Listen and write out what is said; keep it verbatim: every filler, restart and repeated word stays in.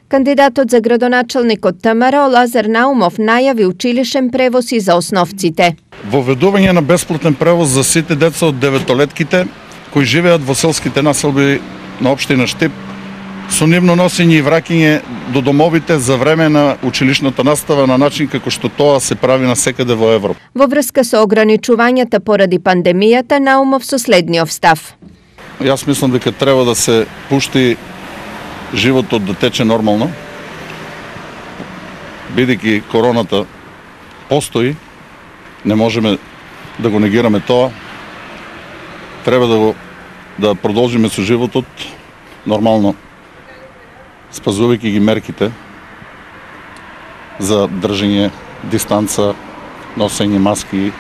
Кандидатот за градоначалник од ТМРО Лазар Наумов најави училишен превоз и за основците. Воведување на бесплатен превоз за сите деца од деветолетките кои живеат во селските населби на општина Штип, со нивно носење и враќање до домовите за време на училишната настава на начин како што тоа се прави насекаде во Европа. Во врска со ограничувањата поради пандемијата, Наумов со следниот став. Јас мислам дека треба да се пушти животот да тече нормално, бидејќи короната постои, не можеме да го негираме тоа. Треба да го да продолжиме со животот нормално, спазувајќи ги мерките за држење дистанца, носење маски,